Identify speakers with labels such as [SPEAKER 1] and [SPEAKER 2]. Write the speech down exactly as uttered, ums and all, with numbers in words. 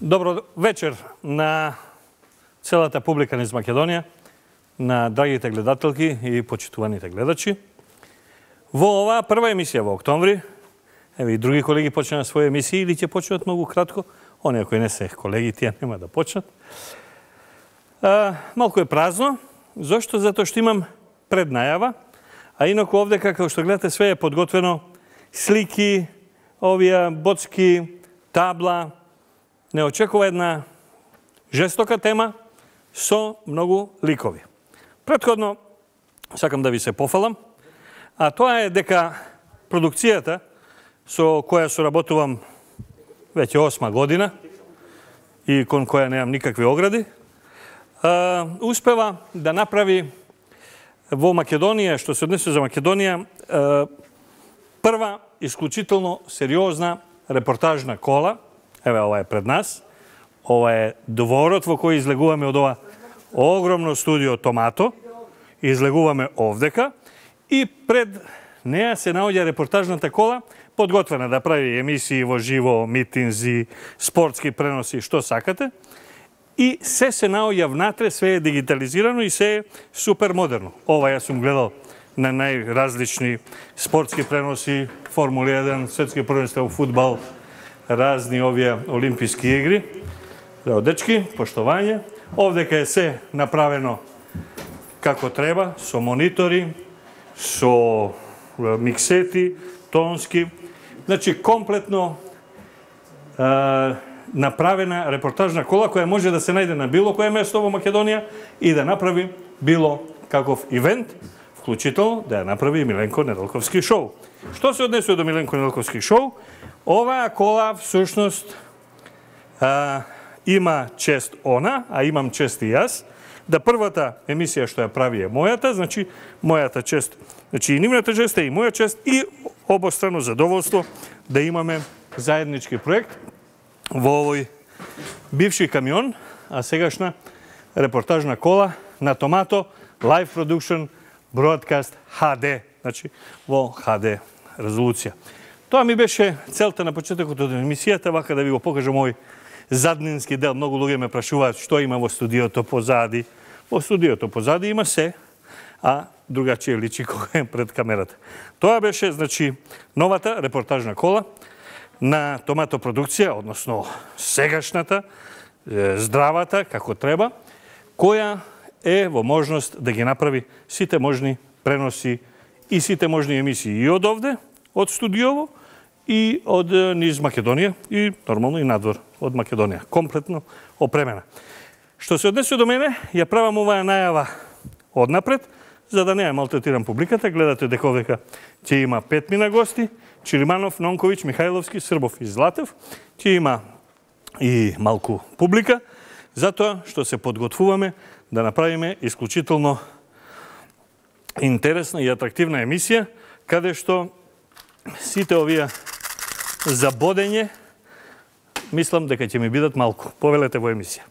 [SPEAKER 1] Добро вечер на целата публика низ Македонија, на драгите гледателки и почитуваните гледачи. Во оваа прва емисија во октомври, еве и други колеги почнаа своји емисии или ќе почнат многу кратко, оние кои не се колеги, тие нема да почнат. А, малку е празно, зошто? Затоа што имам преднајава, а инаку овде, како што гледате, све е подготвено, слики, овие боцки, табла. Не очекува една жестока тема со многу ликови. Претходно, сакам да ви се пофалам, а тоа е дека продукцијата со која соработувам веќе осма година и кон која немам никакви огради, успева да направи во Македонија, што се однесува за Македонија, прва исклучително сериозна репортажна кола. Еве, ова е пред нас. Ова е дворот во кој излегуваме од ова огромно студио Томато. Излегуваме овдека и пред неа се наоѓа репортажната кола, подготвена да прави емисии во живо, митинзи, спортски преноси, што сакате. И се се наоѓа внатре, све е дигитализирано и се е супер модерно. Ова јас сум гледал на најразлични спортски преноси, Формула еден, светски првенства во фудбал, разни овие олимписки игри. Здраво, дечки, поштовање. Овдека е се направено како треба, со монитори, со миксети, тонски. Значи, комплетно е, направена репортажна кола која може да се најде на било кое место во Македонија и да направи било каков ивент, вклучително да ја направи и Миленко Неделковски шоу. Што се однесува до Миленко Неделковски шоу? Оваа кола, всушност, а, има чест она, а имам чест и јас, да првата емисија што ја прави е мојата, значи, мојата чест, значи и нивната чест е и моја чест и обострано задоволство да имаме заеднички проект во овој бивши камион, а сегашна репортажна кола на Томато, Live Production Broadcast Х Д, значи во Х Д резолуција. Тоа ми беше целта на почетокот од емисијата, вака да ви го покажам овој заднински дел. Многу луѓе ме прашуваат што има во студиото позади. Во студиото позади има се, а другачие личи кога е пред камерата. Тоа беше, значи, новата репортажна кола на Томато продукција, односно сегашната, здравата, како треба, која е во можност да ги направи сите можни преноси и сите можни емисии и од овде, од студиово, и од низ Македонија, и нормално и надвор од Македонија. Комплетно опремена. Што се однесува до мене, ја правам оваа најава однапред, за да не ја малтретирам публиката. Гледате дека овдека ќе има петмина гости, Чириманов, Нонковиќ, Михајловски, Србов и Златев. Ќе има и малку публика, затоа што се подготвуваме да направиме исклучително интересна и атрактивна емисија, каде што сите овие за бодење, мислам дека ќе ми бидат малку. Повелете во емисија.